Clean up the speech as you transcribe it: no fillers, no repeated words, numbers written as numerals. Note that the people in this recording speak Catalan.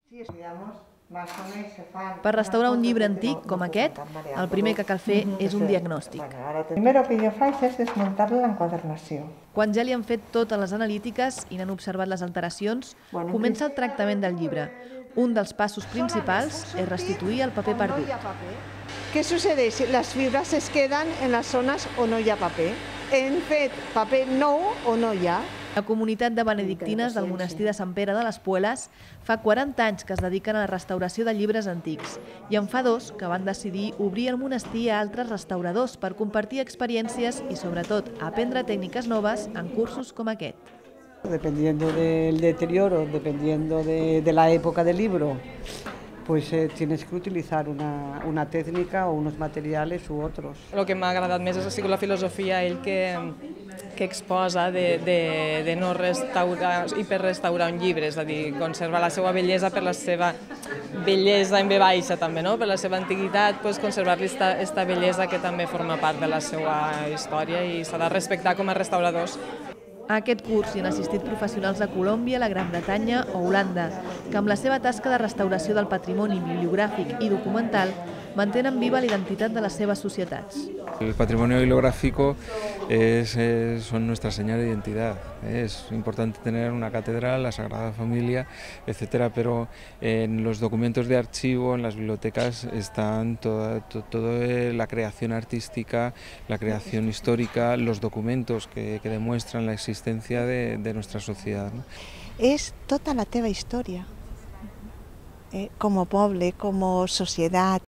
Per restaurar un llibre antic com aquest, el primer que cal fer és un diagnòstic. El primer que jo faig és desmuntar l'enquadernació. Quan ja li han fet totes les analítiques i n'han observat les alteracions, comença el tractament del llibre. Un dels passos principals és restituir el paper perdut. ¿Qué sucede? Las fibras se quedan en las zonas on no hi ha paper. Hem fet paper nou o no hi ha. La comunitat de benedictines del monestir de Sant Pere de les Puelas fa 40 anys que es dediquen a la restauració de llibres antics i en fa 2 que van decidir obrir el monestir a altres restauradors per compartir experiències i, sobretot, aprendre tècniques noves en cursos com aquest. Dependiendo del deterioro, dependiendo de la época del libro, pues tienes que utilizar una técnica o unos materiales u otros. El que m'ha agradat més ha sigut la filosofia ell que exposa de no restaurar, hiperrestaurar un llibre, és a dir, conservar la seva bellesa per la seva bellesa en ve baixa també, no? Per la seva antiguitat, conservar-li aquesta bellesa que també forma part de la seva història i s'ha de respectar com a restauradors. A aquest curs hi han assistit professionals de Colòmbia, la Gran Bretanya o Holanda, que amb la seva tasca de restauració del patrimoni bibliogràfic i documental mantenen viva la identitat de les seves societats. El patrimonio bibliográfico son nuestra señal de identidad. Es importante tener una catedral, la Sagrada Familia, etcétera, pero en los documentos de archivo, en las bibliotecas, están toda la creación artística, la creación histórica, los documentos que demuestran la existencia de nuestra sociedad, ¿no? És tota la teva història. Com a poble, com a societat,